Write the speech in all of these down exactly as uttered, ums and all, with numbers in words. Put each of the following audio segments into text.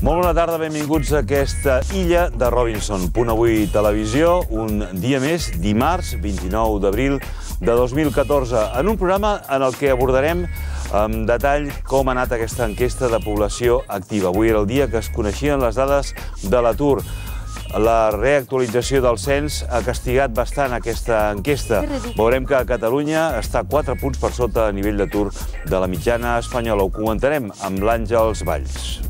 Molt bona tarda, benvinguts a aquesta illa de Robinson. Punt Avui Televisió, un dia més, dimarts, vint-i-nou d'abril de dos mil catorze, en un programa en el que abordarem amb detall com ha anat aquesta enquesta de població activa. Avui era el dia que es coneixien les dades de l'atur. La reactualització del cens ha castigat bastant aquesta enquesta. Veurem que Catalunya està quatre punts per sota a nivell d'atur de la mitjana espanyola. Ho comentarem amb l'Àngels Valls.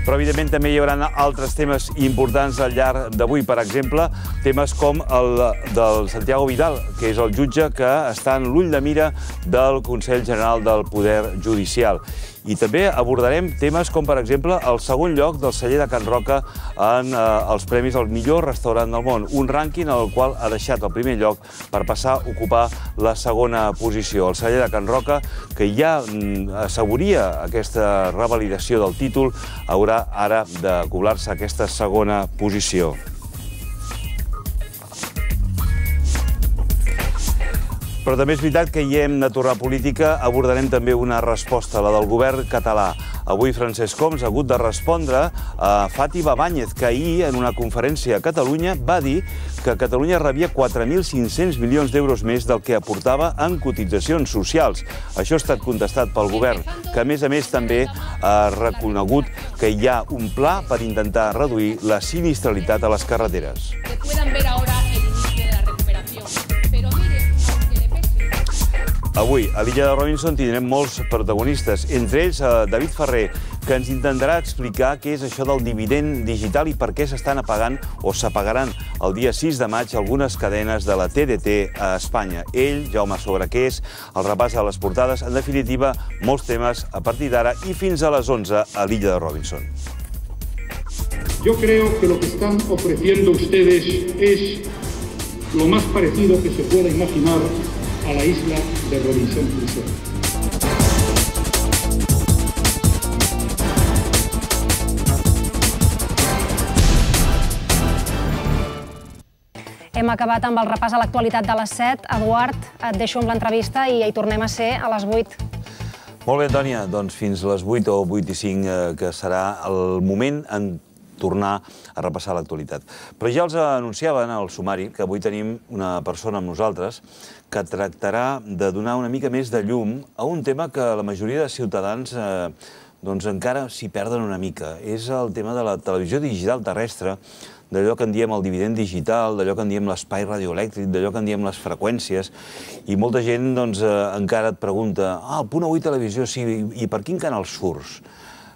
Però, evidentment, també hi haurà altres temes importants al llarg d'avui. Per exemple, temes com el del Santiago Vidal, que és el jutge que està en l'ull de mira del Consell General del Poder Judicial. I també abordarem temes com, per exemple, el segon lloc del celler de Can Roca en eh, els premis al millor restaurant del món. Un rànquing en el qual ha deixat el primer lloc per passar a ocupar la segona posició. El celler de Can Roca, que ja mm, asseguria aquesta revalidació del títol, haurà ara de cobrar-se aquesta segona posició. Però també és veritat que hi hem de tornar a política. Abordarem també una resposta, la del govern català. Avui Francesc Homs ha hagut de respondre a Fàtima Báñez, que ahir, en una conferència a Catalunya, va dir que Catalunya rebia quatre mil cinc-cents milions d'euros més del que aportava en cotitzacions socials. Això ha estat contestat pel govern, que a més a més també ha reconegut que hi ha un pla per intentar reduir la sinistralitat a les carreteres. Avui, a l'illa de Robinson, tindrem molts protagonistes, entre ells David Ferrer, que ens intentarà explicar què és això del dividend digital i per què s'estan apagant o s'apagaran el dia sis de maig algunes cadenes de la T D T a Espanya. Ell, Jaume Sobrequés, el repàs a les portades, en definitiva, molts temes a partir d'ara i fins a les onze a l'illa de Robinson. Yo creo que lo que están ofreciendo ustedes es lo más parecido que se pueda imaginar a la isla de Robinson Crusoe. Hem acabat amb el repàs a l'actualitat de les set. Eduard, et deixo amb l'entrevista i hi tornem a ser a les vuit. Molt bé, Antònia. Doncs fins les vuit o vuit i cinc, que serà el moment en tornar a repassar l'actualitat. Però ja els anunciaven al sumari que avui tenim una persona amb nosaltres que tractarà de donar una mica més de llum a un tema que la majoria de ciutadans eh, doncs encara s'hi perden una mica. És el tema de la televisió digital terrestre, d'allò que en diem el dividend digital, d'allò que en diem l'espai radioelèctric, d'allò que en diem les freqüències, i molta gent doncs, eh, encara et pregunta ah, el Punt Avui Televisió, sí, i per quin canal surts?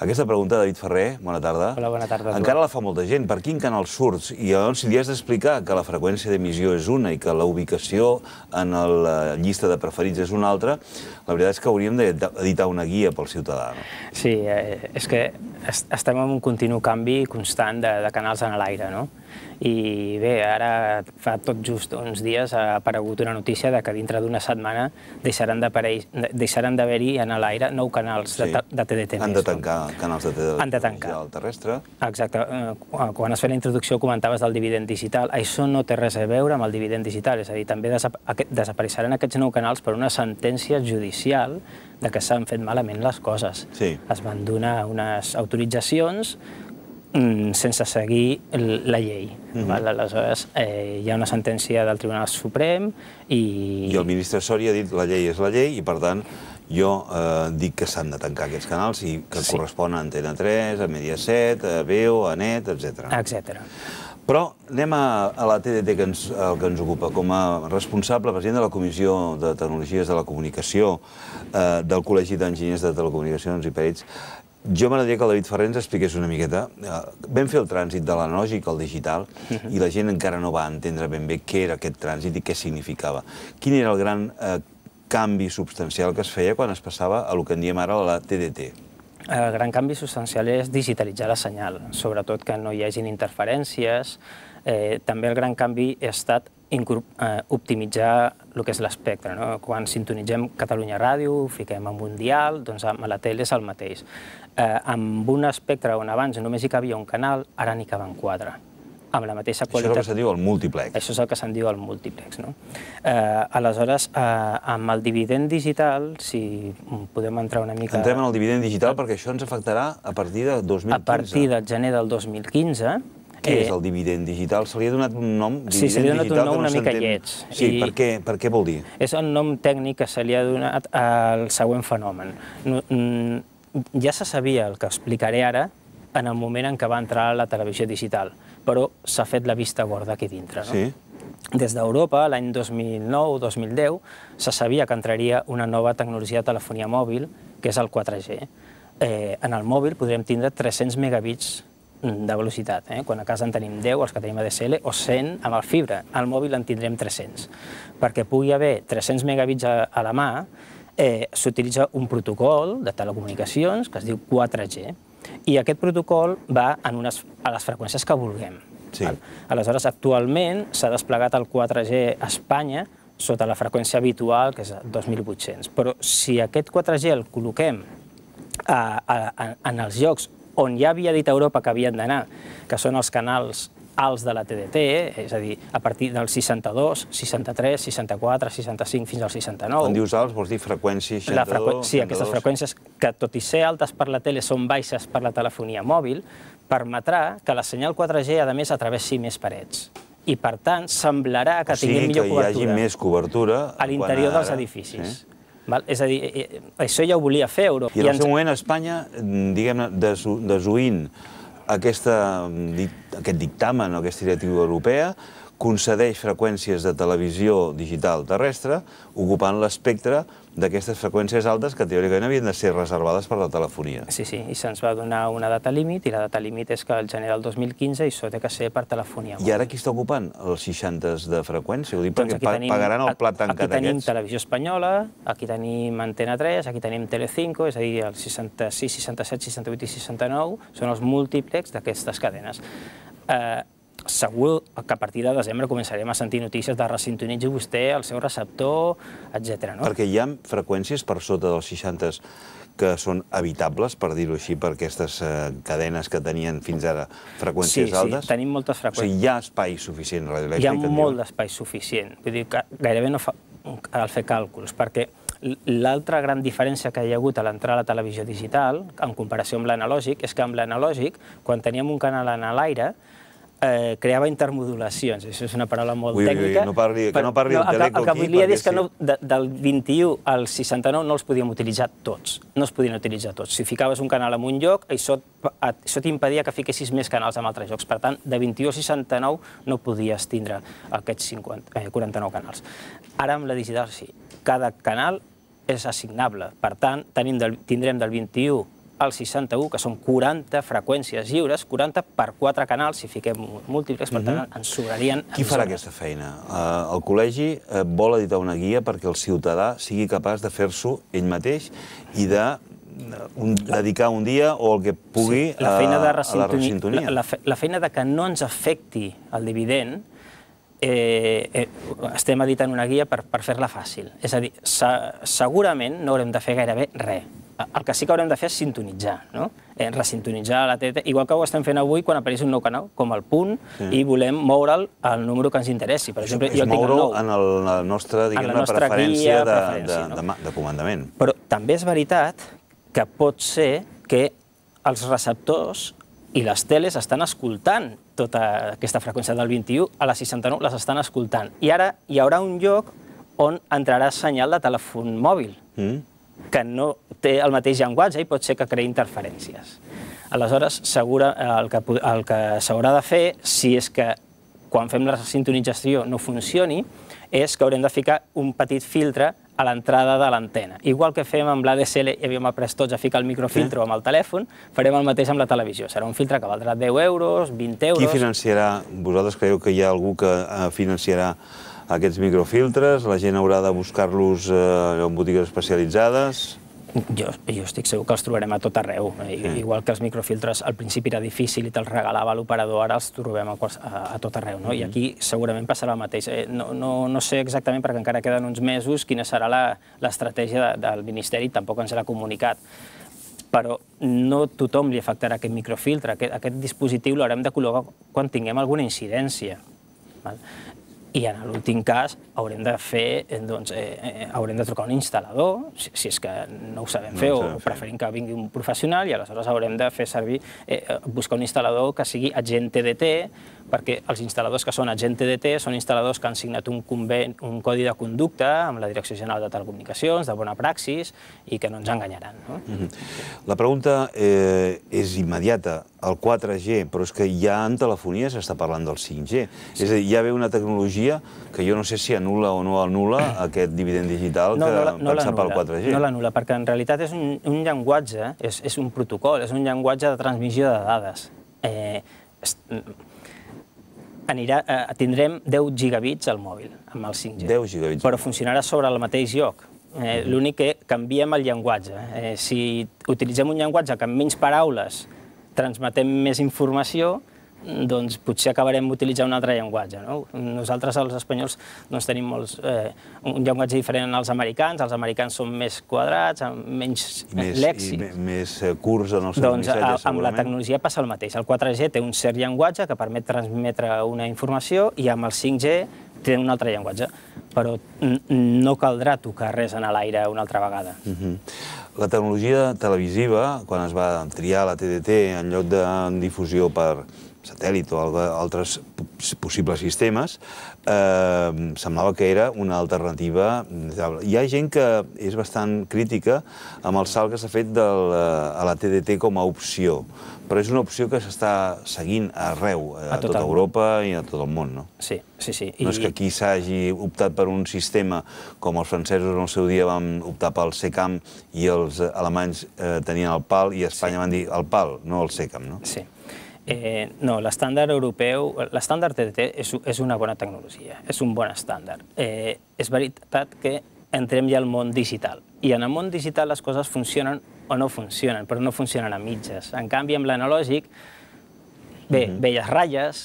Aquesta pregunta, David Ferrer, bona tarda. Hola, bona tarda. Encara la fa molta gent. Per quin canal surts? I llavors, si li has d'explicar que la freqüència d'emissió és una i que la ubicació en la llista de preferits és una altra, la veritat és que hauríem d'editar una guia pel ciutadà. Sí, és que estem en un continu canvi constant de canals en l'aire, no? I bé, ara fa tot just uns dies ha aparegut una notícia de que dintre d'una setmana deixaran d'haver-hi en l'aire nou canals de T D T. Han de tancar canals de T D T terrestre. Exacte. Quan es feia la introducció comentaves del dividend digital. Això no té res a veure amb el dividend digital, és a dir, també desapareixeran aquests nou canals per una sentència judicial de que s'han fet malament les coses. Es van donar unes autoritzacions sense seguir la llei. Aleshores, hi ha una sentència del Tribunal Suprem i... I el ministre Soria ha dit la llei és la llei i, per tant, jo dic que s'han de tancar aquests canals i que corresponen a Antena tres, a Mediaset, a Veo, a Net, etcètera. Etcètera. Però anem a la T D T que ens ocupa. Com a responsable, president de la Comissió de Tecnologies de la Comunicació del Col·legi d'Enginyers de Telecomunicacions i Perits, jo m'agradaria que el David Ferrer ens expliqués una miqueta. Vam fer el trànsit de l'analògic al digital i la gent encara no va entendre ben bé què era aquest trànsit i què significava. Quin era el gran canvi substancial que es feia quan es passava a el que en diem ara la T D T? El gran canvi substancial és digitalitzar la senyal, sobretot que no hi hagin interferències. També el gran canvi ha estat optimitzar el que és l'espectre. Quan sintonitzem Catalunya Ràdio, fiquem en un dial, doncs amb la tele és el mateix. Amb un espectre on abans només hi cabia un canal, ara n'hi caben quatre. amb la mateixa qualitat. Això és el que se'n diu el múltiplex. Això és el que se'n diu el múltiplex. No? Eh, aleshores, eh, amb el dividend digital, si podem entrar una mica... Entrem en el dividend digital perquè això ens afectarà a partir de dos mil quinze. A partir del gener del dos mil quinze... Què és el dividend digital? Se li ha donat un nom? Sí, se li ha donat un nom una mica lleig. Sí, per què, per què vol dir? És el nom tècnic que se li ha donat al següent fenomen. Ja se sabia el que explicaré ara en el moment en què va entrar a la televisió digital, però s'ha fet la vista gorda aquí dintre. Sí. Des d'Europa, l'any dos mil nou dos mil deu, se sabia que entraria una nova tecnologia de telefonia mòbil, que és el quatre G. En el mòbil podrem tindre tres-cents megabits de velocitat. Quan a casa en tenim deu, els que tenim A D S L, o cent amb el fibra. Al mòbil en tindrem tres-cents. Perquè pugui haver tres-cents megabits a la mà, s'utilitza un protocol de telecomunicacions que es diu quatre G. I aquest protocol va a les freqüències que vulguem. Aleshores, actualment s'ha desplegat el quatre G a Espanya sota la freqüència habitual, que és dos mil vuit-cents. Però si aquest quatre G el col·loquem en els llocs on ja havia dit a Europa que havien d'anar, que són els canals alts de la T D T, és a dir, a partir del seixanta-dos, seixanta-tres, seixanta-quatre, seixanta-cinc fins al seixanta-nou. Quan dius alts, vols dir freqüència seixanta-dos? Sí, aquestes freqüències que, tot i ser altes per la tele, són baixes per la telefonia mòbil, permetrà que la senyal quatre G, a més, atravessi més parets. I, per tant, semblarà que tingui millor cobertura. O sigui, que hi hagi més cobertura a l'interior dels edificis. És a dir, això ja ho volia fer Europa. I en el seu moment Espanya, diguem-ne, desoint aquest dictamen o aquesta directiva europea, concedeix freqüències de televisió digital terrestre, ocupant l'espectre d'aquestes freqüències altes que teòricament havien de ser reservades per la telefonia. Sí, sí, i se'ns va donar una data límit, i la data límit és que el gener del dos mil quinze això té que ser per telefonia. I ara qui està ocupant els seixanta de freqüència? Ho dic perquè pagaran el plat tancat aquests. Aquí tenim Televisió Espanyola, aquí tenim Antena tres, aquí tenim Telecinco, és a dir, el seixanta-sis, seixanta-set, seixanta-vuit i seixanta-nou són els múltiplex d'aquestes cadenes. Segur que a partir de desembre començarem a sentir notícies de resintonitzi vostè el seu receptor, etcètera. Perquè hi ha freqüències per sota dels seixanta que són habitables, per dir-ho així, per aquestes cadenes que tenien fins ara freqüències altes? Sí, sí, tenim moltes freqüències. O sigui, hi ha espai suficient radioelèctric? Hi ha molt d'espai suficient. Vull dir que gairebé no cal fer càlculs, perquè l'altra gran diferència que hi ha hagut a l'entrar a la televisió digital, en comparació amb l'analògic, és que amb l'analògic, quan teníem un canal en l'aire, creava intermodulacions. Això és una paraula molt tècnica. Ui, ui, que no parli del teleco aquí. El que volia dir és que del vint-i-u al seixanta-nou no els podíem utilitzar tots. No els podien utilitzar tots. Si ficaves un canal en un lloc, això t'impedia que fiquessis més canals en altres llocs. Per tant, de vint-i-u a seixanta-nou no podies tindre aquests quaranta-nou canals. Ara amb la digital sí. Cada canal és assignable. Per tant, tindrem del vint-i-u al seixanta-u, que són quaranta freqüències lliures, quaranta per quatre canals, si fiquem múltiples, per tant, ens sobrarien... Qui farà aquesta feina? El col·legi vol editar una guia perquè el ciutadà sigui capaç de fer-s'ho ell mateix i de dedicar un dia o el que pugui a la resintonia. La feina de que no ens afecti el dividend, estem editant una guia per fer-la fàcil. És a dir, segurament no haurem de fer gairebé res. El que sí que haurem de fer és sintonitzar, resintonitzar la T D T, igual que ho estem fent avui quan apareix un nou canal, com el Punt, i volem moure'l al número que ens interessi. És moure'l en la nostra preferència de comandament. Però també és veritat que pot ser que els receptors i les teles estan escoltant tota aquesta freqüència del vint-i-u, a la seixanta-nou les estan escoltant. I ara hi haurà un lloc on entrarà senyal de telèfon mòbil, que no té el mateix llenguatge i pot ser que creï interferències. Aleshores, el que s'haurà de fer, si és que quan fem la sintonització no funcioni, és que haurem de ficar un petit filtre a l'entrada de l'antena. Igual que fem amb l'A D S L i havíem après tots a ficar el microfiltre amb el telèfon, farem el mateix amb la televisió. Serà un filtre que valdrà deu euros, vint euros... Qui financiarà? Vosaltres creieu que hi ha algú que financiarà aquests microfiltres? La gent haurà de buscar-los en botigues especialitzades? Jo estic segur que els trobarem a tot arreu. Igual que els microfiltres al principi era difícil i te'ls regalava l'operador, ara els trobem a tot arreu. I aquí segurament passarà el mateix. No sé exactament, perquè encara queden uns mesos, quina serà l'estratègia del Ministeri, tampoc ens l'ha comunicat. Però no tothom li afectarà aquest microfiltre. Aquest dispositiu l'haurem de col·locar quan tinguem alguna incidència. I en l'últim cas haurem de fer, doncs, haurem de trucar un instal·lador, si és que no ho sabem fer o preferim que vingui un professional, i aleshores haurem de fer servir, buscar un instal·lador que sigui agent T D T, perquè els instal·ladors que són agent T D T són instal·ladors que han signat un codi de conducta amb la Direcció General de Telecomunicacions, de bona praxis, i que no ens enganyaran. La pregunta és immediata. El quatre G, però és que ja en telefonia s'està parlant del cinc G. És a dir, ja ve una tecnologia que jo no sé si anul·la o no anul·la aquest dividend digital que pensar pel quatre G. No l'anul·la, perquè en realitat és un llenguatge, és un protocol, és un llenguatge de transmissió de dades. Tindrem deu gigabits al mòbil amb el cinc G. deu gigabits. Però funcionarà sobre el mateix lloc. L'únic que canviem el llenguatge. Si utilitzem un llenguatge que amb menys paraules transmetem més informació, doncs potser acabarem utilitzant un altre llenguatge. Nosaltres, els espanyols, tenim un llenguatge diferent als americans. Els americans són més quadrats, amb menys lèxic. I més curts en els seus missatges, segurament. Doncs amb la tecnologia passa el mateix. El quatre G té un cert llenguatge que permet transmetre una informació i amb el cinc G té un altre llenguatge, però no caldrà tocar res en l'aire una altra vegada. La tecnologia televisiva, quan es va triar la T D T en lloc de difusió per satèl·lit o altres possibles sistemes, semblava que era una alternativa. Hi ha gent que és bastant crítica amb el salt que s'ha fet a la T D T com a opció, però és una opció que s'està seguint arreu, a tota Europa i a tot el món, no? Sí, sí, sí. No és que aquí s'hagi optat per un sistema com els francesos en el seu dia van optar pel SECAM i els alemanys tenien el PAL i a Espanya van dir el PAL, no el SECAM, no? Sí. No, l'estàndard europeu, l'estàndard T D T és una bona tecnologia, és un bon estàndard. És veritat que entrem ja al món digital, i en el món digital les coses funcionen o no funcionen, però no funcionen a mitges. En canvi, amb l'analògic, bé, veies ratlles,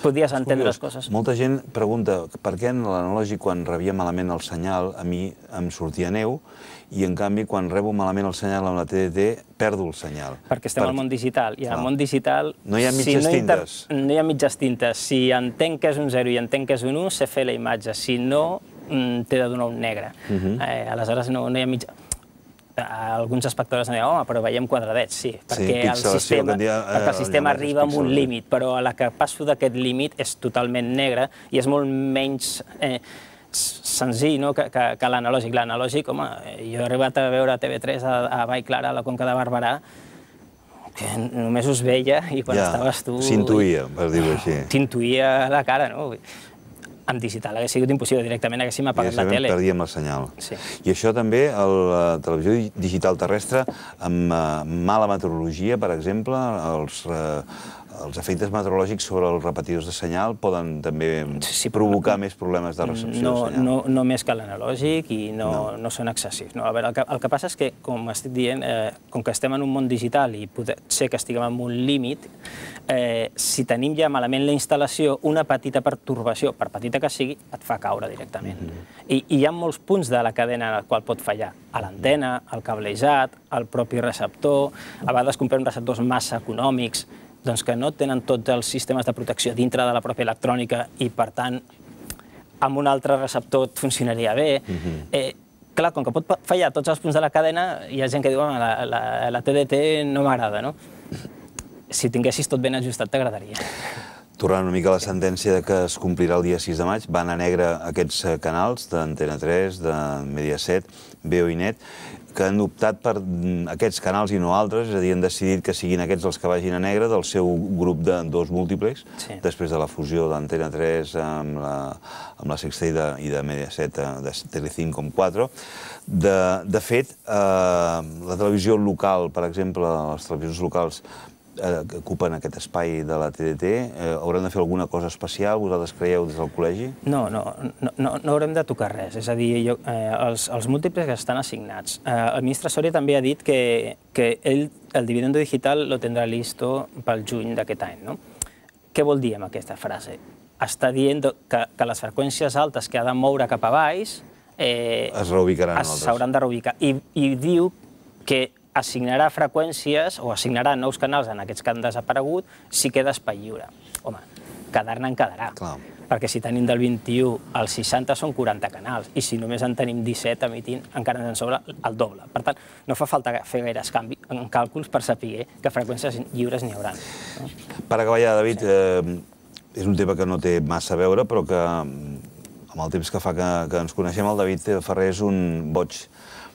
podies entendre les coses. Molta gent pregunta per què en l'analògic, quan rebia malament el senyal, a mi em sortia neu, i en canvi, quan rebo malament el senyal amb la T D T, perdo el senyal. Perquè estem al món digital, i al món digital... No hi ha mitges tintes. No hi ha mitges tintes. Si entenc que és un zero i entenc que és un u, sé fer la imatge. Si no, t'he de donar un negre. Aleshores, no hi ha mitja... Alguns espectadors em diuen, home, però veiem quadradets, sí, perquè el sistema arriba amb un límit, però a la que passo d'aquest límit és totalment negre i és molt menys senzill que l'analògic. L'analògic, home, jo he arribat a veure T V tres a Vall Clara, a la Conca de Barberà, que només us veia i quan estaves tu... S'intuïa, per dir-ho així. T'intuïa la cara, no? En digital hauria sigut impossible, directament haguéssim apagat la tele. Perdíem el senyal. I això també, la televisió digital terrestre, amb mala meteorologia, per exemple, els efectes meteorològics sobre els repetidors de senyal poden també provocar més problemes de recepció de senyal. No més que l'analògic i no són excessius. El que passa és que, com estic dient, com que estem en un món digital i pot ser que estiguem en un límit, si tenim ja malament la instal·lació, una petita pertorbació, per petita que sigui, et fa caure directament. I hi ha molts punts de la cadena en el qual pot fallar. A l'antena, el cablejat, el propi receptor, a vegades comprem receptors massa econòmics, doncs que no tenen tots els sistemes de protecció dintre de la pròpia electrònica i, per tant, amb un altre receptor et funcionaria bé. Clar, com que pot fallar a tots els punts de la cadena, hi ha gent que diu que la T D T no m'agrada, no? Si tinguessis tot ben ajustat, t'agradaria. Tornant una mica a la sentència que es complirà el dia sis de maig, van a negre aquests canals d'Antena tres, de Mediaset, V O i Net, que han optat per aquests canals i no altres, és a dir, han decidit que siguin aquests els que vagin a negre del seu grup de dos múltiplex, després de la fusió d'Antena tres amb la Sexta i de Mediaset, de Telecinco amb quatre. De fet, la televisió local, per exemple, les televisions locals que ocupen aquest espai de la T D T, haurem de fer alguna cosa especial? Vosaltres creieu des del col·legi? No, no, no haurem de tocar res. És a dir, els múltiples estan assignats. El ministre Soria també ha dit que ell el dividendo digital lo tindrà listo pel juny d'aquest any. Què vol dir amb aquesta frase? Està dient que les freqüències altes que ha de moure cap a baix es reubicaran. S'hauran de reubicar. I diu que assignarà freqüències o assignarà nous canals en aquests que han desaparegut si queda espai lliure. Home, quedar-ne en quedarà. Clar. Perquè si tenim del vint-i-u al seixanta són quaranta canals, i si només en tenim disset emitint, encara ens en sobra el doble. Per tant, no fa falta fer gaires càlculs per saber que freqüències lliures n'hi haurà. Per acabar ja, David, és un tema que no té massa a veure, però que amb el temps que fa que ens coneixem, el David Ferrer és un boig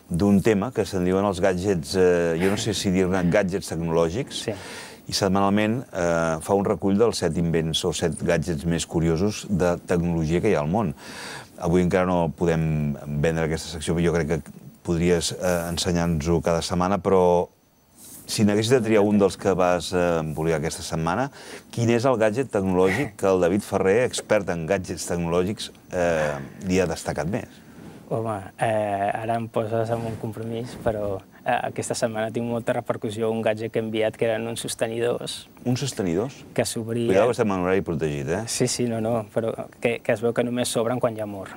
d'un tema que se'n diuen els gadgets, jo no sé si dir-ne gadgets tecnològics, i setmanalment fa un recull dels set invents o set gadgets més curiosos de tecnologia que hi ha al món. Avui encara no podem vendre aquesta secció, jo crec que podries ensenyar-nos-ho cada setmana, però si n'haguessis de triar un dels que vas publicar aquesta setmana, quin és el gadget tecnològic que el David Ferrer, expert en gadgets tecnològics, li ha destacat més? Home, ara em poses en un compromís, però aquesta setmana tinc molta repercussió un gadget que he enviat que eren uns sostenidors. Uns sostenidors? Que s'obrien... Cuidado que estem en horari protegit, eh? Sí, sí, no, no, però que es veu que només s'obren quan hi ha amor.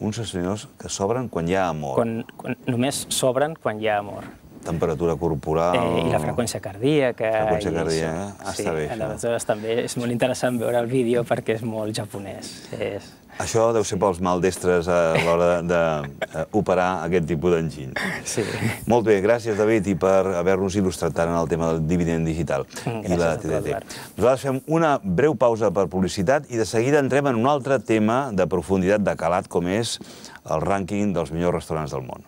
Uns sostenidors que s'obren quan hi ha amor. Només s'obren quan hi ha amor. Temperatura corporal... I la freqüència cardíaca... Freqüència cardíaca, està bé. Sí, aleshores també és molt interessant veure el vídeo perquè és molt japonès. Això deu ser pels maldestres a l'hora d'operar aquest tipus d'enginy. Sí. Molt bé, gràcies, David, i per haver-nos il·lustrat tant en el tema del dividend digital i la T D T. Nosaltres fem una breu pausa per publicitat i de seguida entrem en un altre tema de profunditat de calat com és el rànquing dels millors restaurants del món.